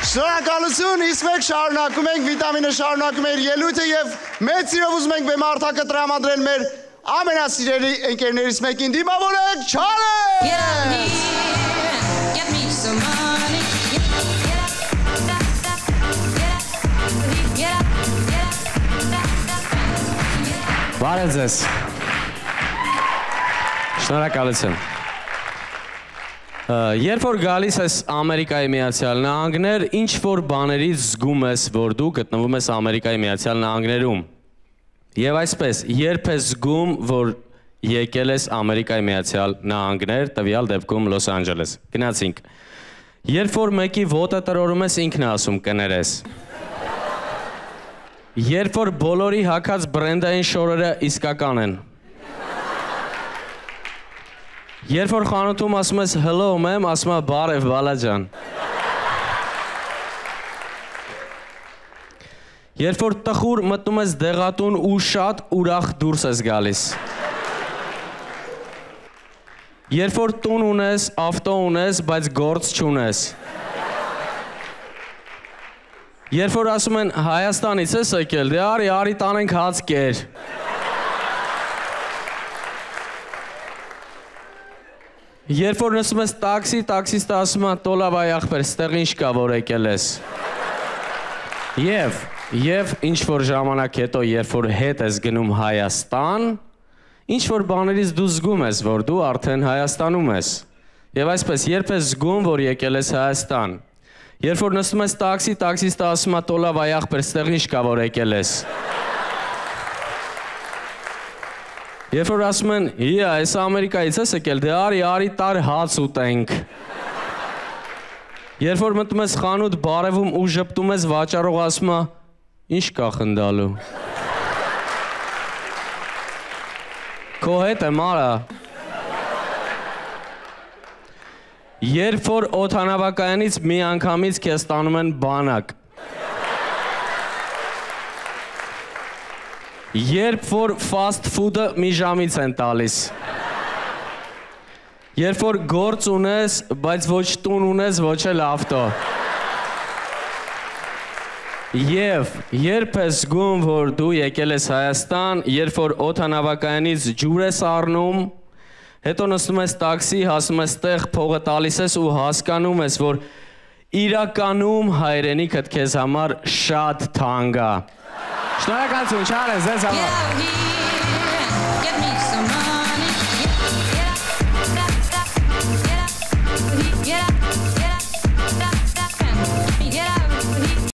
Շնորհակալություն, իսկ մենք շարունակում ենք, վիտամինը շարունակում է իր ելույթը եւ մեծ սիրով ուզում ենք բեմարտակը տրամադրել մեր ամենասիրելի ընկերներից մեկին, դիմավորեք Չարեն! Բարև ձեզ։ Շնորհակալություն։ Երբ որ գալիս ես Ամերիկայի Միացյալ Նահանգներ, ինչ որ բաներից զգում ես, որ դու գտնվում ես Ամերիկայի Միացյալ Նահանգներում։ Եվ այսպես, երբ ես զգում, որ եկել ես Ամերիկայի Միացյալ Նահանգներ, տվյալ դեպքում Լոս Անջելես։ Գնացինք։ Երբ որ մեկի ոտը տրորում ես, ինքն է ասում կներես։ Երբ որ բոլորի հագած բրենդային շորերը իսկական են։ Երբ որ խանութում ասում ես hello ma'am, ասում է բարև բալաջան։ Երբ որ տխուր մտնում ես դեղատուն ու շատ ուրախ դուրս ես գալիս։ Երբ որ տուն ունես, ավտո ունես, բայց գործ չունես։ Երբ որ ասում են Հայաստանից ես եկել, դե արի տանենք հաց կեր։ Երբ որ նստում ես տաքսի, տաքսիստը ասում է տոլավ այ ախպեր, ստեղ ինչ կա, որ եկել ես։ Եվ ինչ որ ժամանակ հետո, երբ որ հետ ես գնում Հայաստան, ինչ որ բաներից դու զգում ես, որ դու արդեն Հայաստանում ես։ Եվ այսպես, երբ ես զգում, որ եկել ես Հայաստան, երբ որ նստում ես տաքսի, տաքսիստը ասում է տոլավ այ ախպեր, ստեղ ինչ կա, որ եկել ես։ Երբ որ ասում են, այս Ամերիկայից ես եկել, դե արի տար հաց ուտենք։ Երբ որ մտնում ես խանութ բարևում ու ժպտում ես, վաճառողը ասում է, ինչ կա խնդալու։ Քո հետ եմ արա։ Երբ որ օդանավակայանից մի անգամից քեզ տանում են բանակ։ Երբ որ fast food-ը մի ժամից են տալիս։ Երբ որ գործ ունես, բայց ոչ տուն ունես, ոչ էլ ավտո։ Եվ երբ ես զգում, որ դու եկել ես Հայաստան, երբ որ օդանավակայանից ջուր ես առնում, հետո նստում ես տաքսի, հասնում ես տեղ, փողը տալիս ես ու հասկանում ես, որ իրականում հայրենիքդ քեզ համար շատ թանկ է։ Շնորհակալություն, Չարեն, ձեզ համար։